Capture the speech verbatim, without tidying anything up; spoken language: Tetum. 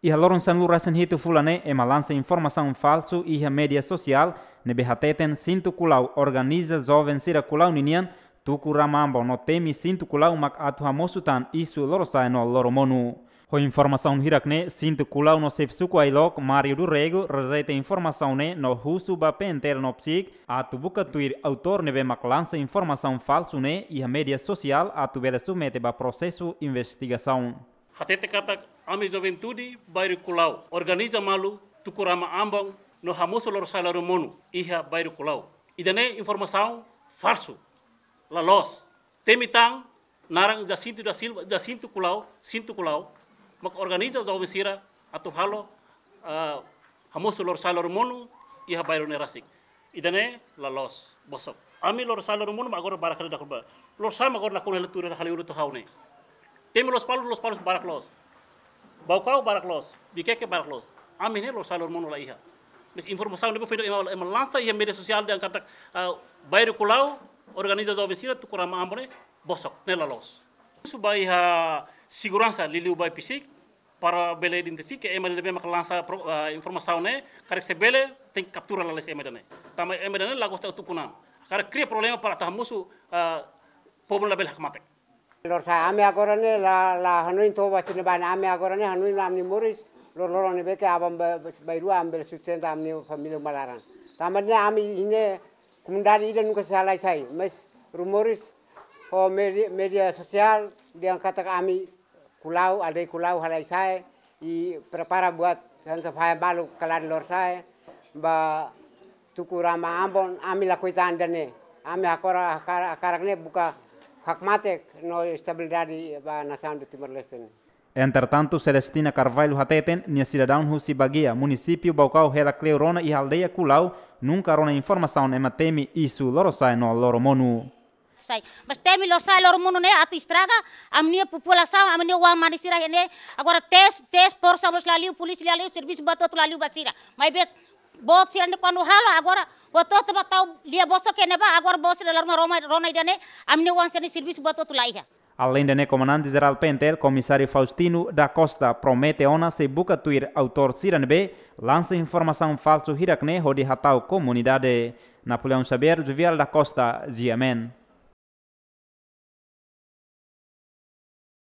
Iha loron sanulu-resin-hitu fulan ne'e ema lansa informasaun falsu iha média sosiál ne'ebé hateten Sintu Kulau organiza joven sira Kulau ninian tuku rama ambon no temi Sintu Kulau mak atu hamosu tan isu Lorosa'e no Loromonu. Ho informasaun hirak ne'e, Sintu Kulau no xefe suku Ailok, Mário do Rego, rejeita informasaun ne'e no husu ba P N T L no PCIC atu buka tuir autór ne'ebé mak lansa informasaun falsu ne'e iha média sosiál atu bele submete ba prosesu investigasaun. Hatete katak ami juventude bairru Kulau organiza malu tuku rama ambon no hamosu Lorosa'e Loromonu iha bairru Kulau. Ida-ne'e informasaun falsu, la loos. Temi tan naran Jacinto da Silva, Jacinto Kulau, Sintu Kulau, mak organiza joven sira atu halo, ah, hamosu Lorosa'e Loromonu iha bairru ne'e rasik. Ida-ne'e la loos, bosok. Ami Lorosa'e Loromonu mak agora barak hela dakur ba. Lorosa'e mak agora nakonu hela tuur hela hali ulu to'o ha'u ne'e. Temi Lospalos, Lospalos barak loos. Baucau barak loos. Viqueque barak loos. Ami ne'e Lorosa'e Loromonu la iha. Mais informasaun ne'ebé foin ema, ema lansa iha média sosiál dehan katak, ah, bairru Kulau organiza joven sira tuku rama ambon ne'e bosok, ne'e la loos. Husu ba iha seguransa liuliu ba PCIC para bele identifika ema ne'ebé mak lansa pro-, ah, informasaun ne'e, karik se bele tenke kaptura lalais ema ida-ne'e. Tanba ema ida-ne'e la gosta utuk kunan. Karik kria problema para atu hamosu, ah, povu labele hakmatek. Lorosa'e, ami agora ne'e la, la hanoin toba sini bana, ami agora ne'e hanoin ami moris, loroloron ne'ebé ke aban ba, ba, bairru ami bele sustenta ami família malaran. Tanba ne'e ami iha ne'e komunidade ida nunka sei halai sai, mais rumores ho média, média sosiál dehan katak ami Kulau, aldeia Kulau halai sai, i prepara buat hanesan fahe malu kalan Lorosa'e, ba tuku rama ambon, ami lakohi tan ida-ne'e. Ami agora hakar-, hakarak ne'e buka hakmatek no estabilidade ba nasaun de Timor-Leste ne'e. Entretantu, Celestina Carvalho hateten, nia sidadaun husi Baguia, munisípiu Baucau hela kleur ona iha aldeia Kulau, nunka rona informasaun ema temi isu Lorosa'e no Loromonu. Sai, mais temi Lorosa'e Loromonu ne'e atu estraga ami-nia populasaun, ami-nia oan-mane sira iha ne'e. Agora tes, tes forsa mós la liu, polísia la liu, servisu buat hotu la liu ba sira. Maibé boot sira ne'e kuandu halo agora buat hotu mak tau lia bosok iha ne'ebá, agora boot sira la rona, rona, rona ida-ne'e, ami-nia oan sira-nia servisu buat hotu la iha. Aleinde ne'e, Komandante Jerál P N T L, Komisáriu Faustino da Costa, promete ona sei buka tuir autór sira ne'ebé lansa informasaun falsu hirak ne'e hodi hata'uk komunidade. Napoleão Xavier, Juvial da Costa, G M N.